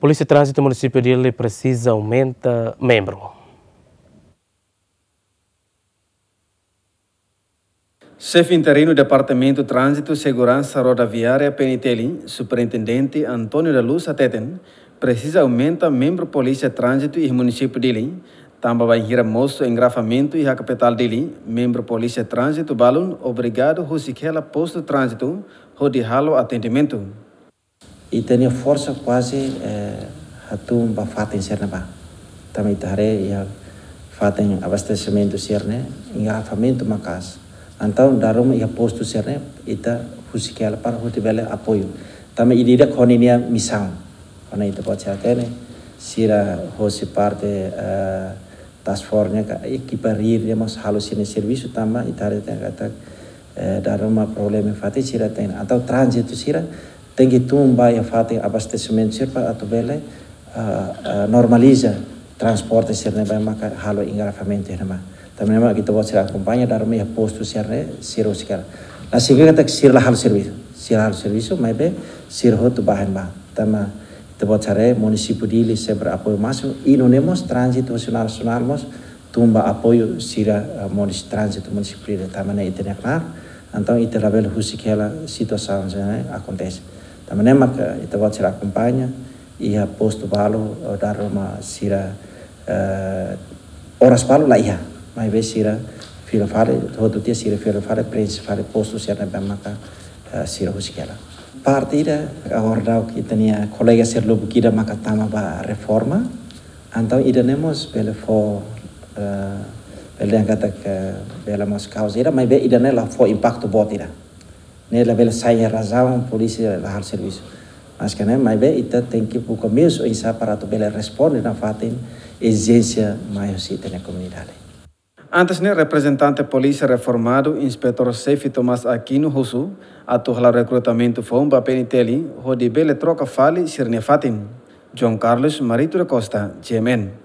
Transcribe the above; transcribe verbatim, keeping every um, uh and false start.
Polísia Tránzitu Munisípiu Dili presiza aumenta membru. Xefe interinu Departamentu Tránzitu Seguransa Rodoviária, P N T L, Superintendente António da Luz hateten, presiza aumenta membru Polísia Tránzitu iha Munisípiu Dili, tanba bainhira mosu engarrafamentu iha kapitál Dili, membru Polísia Tránzitu balun obrigadu husik hela postu tránzitu hodi halo atendimentu. Ita-nia forsa kuaze, eh, hatún ba fatin sira-ne'ebá. Tanba ita haree iha fatin abastesimentu sira-ne'e, engarrafamentu maka'as. Entaun, dala ruma iha postu sira-ne'e, ita husik hela para hodi bele apoiu. Tanba ida-idak ho ninia misaun. Kuandu ita-boot sira hatene, sira hosi parte, eh, task force ne'e ka ekipa rir ne'e mós halo sira-nia servisu tanba ita haree katak, eh, dala ruma problema fatin sira tenke. Entaun tránzitu sira tenke tun ba iha fatin abastesimentu sira para atu bele, ah, ah, normaliza transporte sira-ne'ebé maka halo engarrafamentu iha ne'ebá. Tanba ne'e mak ita-boot sira akompaña dala ruma iha postu sira-ne'e sira husik hela. La signifika katak sira la halo servisu. Sira halo servisu, maibé sira hotu ba iha ne'ebá. Tanba ita-boot sira haree munisípiu Dili sempre apoiu másimu, i nune'e mós tránzitu nasionál mós tun ba apoiu sira, eh, munis-, tránzitu munisípiu Dili, tanba ne'e ita-nia knaar, entaun ita labele husik hela situasaun sira-ne'e akontese. Tanba ne'e maka ita-boot sira akompaña, iha postu balu, eh, dala ruma sira, eh, oras balu la iha, maibé sira fila fali, hotu tiha sira fila fali, preenxe fali postu sira-ne'ebé maka, eh, sira husik hela. Parte ida, agora daudaun ita-nia kolega sira lubuk ida maka tama ba reforma, entaun ida-ne'e mós bele fó, eh, bele dehan katak bele mós kauza ida, maibé ida-ne'e la fó impaktu boot ida. Ne'e labele sai razaun polísia la halo servisu. Maske ne'e, maibé ita tenke buka meius oinsá para atu bele responde nafatin ezijénsia mai husi ita-nia komunidade. Antes ne'e, reprezentante polísia reformadu, Inspetór Xefe Tomás Aquino husu atu hala'o rekrutamentu foun ba P N T L, hodi bele troka fali sira-nia fatin. João Carlos Marito da Costa, G M N.